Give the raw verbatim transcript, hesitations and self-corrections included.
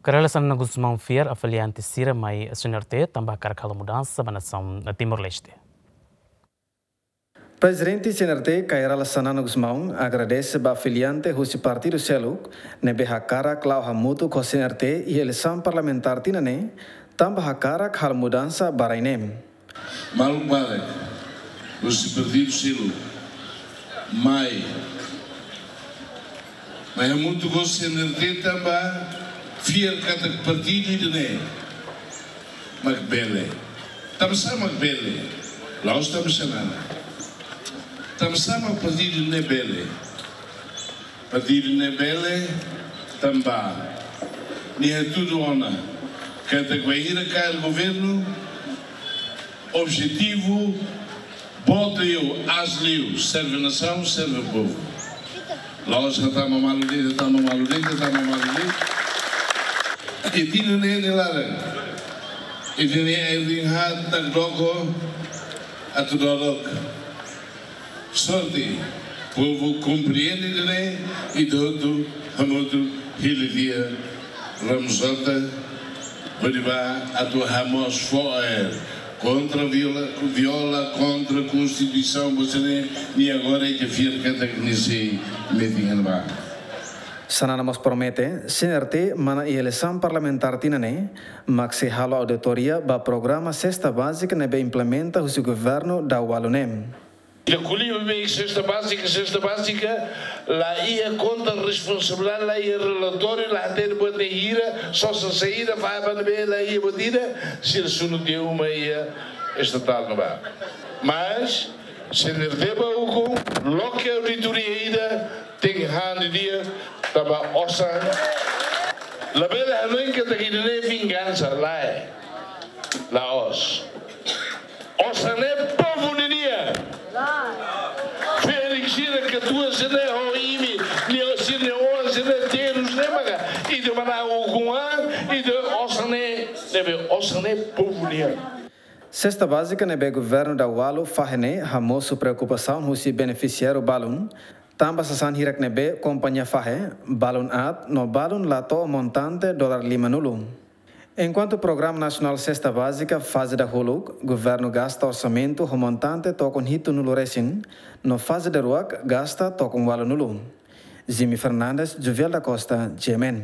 Kay Rala Xanana Gusmão fiar afiliante sira mai CNRT tanba hakarak halo mudansa ba nasaun Timor-Leste. Prezidente CNRT Kay Rala Xanana Gusmão agradese ba afiliante husi partidu seluk ne'ebé hakarak la'o hamutuk ho CNRT iha eleisaun parlamentár tinan ne'e, tanba hakarak halo mudansa ba rai ne'e. Maluk barak husi partidu seluk mai, mai hamutuk ho CNRT tanba fiar katak partidu ida-ne'e mak bele. Tanbasá mak bele? La'ós tanba Xanana. Tanbasá mak partidu ne'e bele? Partidu ne'e bele tanba nia hatudu ona katak bainhira kaer governu, objetivu boot liu, aas liu, serve nasaun, serve povu. La'ós hatama malu de'it, hatama malu de'it, hatama malu de'it. I tinan ne'e nia laran, i tinan ne'e ai rinhat nak doko atu dodok. Sorte, povu komprende ida-ne'e, i ita hotu hamutuk hili tiha Ramos Horta, hodi bá atu hamoos fo'er kontra viola, viola kontra Konstituisaun, ba ida-ne'e, nia agora ita fiar katak nia sei metin iha ne'ebá. Xanana mós promete, CNRT manán iha eleisaun parlamentár tinan ne'e, mak sei halo auditoria ba programa sesta bázika ne'ebé implementa husi governu daualu ne'e. Ita ko'alia ba sesta bázika, sesta bázika, la iha konta, responsabilidade, la iha relatóriu, la hatene buat ne'e hira, sosa saida, fahe ba ne'ebé, la iha buat ida, sira sunu tiha uma iha estatál ne'ebá. Mas, CNRT bá ukun, loke auditoria ida, tenke han didi'ak, tanba osan. Labele hanoin katak ida-ne'e vingansa, lae. La'ós. Osan ne'e povu ninian. Félix sira katuas ne'e ho imi, nia sira-nia oan sira-ne'e terus ne'e maka ita manán ukun an, ita osan ne'e, ne'ebé osan ne'e povu nian. Sesta bázika ne'ebé governu daualu fahe ne'e hamosu preokupasaun husi benefisiáriu balun, tanba sasán hirak ne'ebé kompañia fahe, balun aat no balun la to'o montante dolar lima-nulu. Enkuantu Programa Nasionál Sesta Bázika faze dahuluk, governu gasta orsamentu ho montante tokon hitu-nulu resin, no faze daruak gasta tokon ualu-nulu. Jimmy Fernandes, Juviel da Costa, G M N.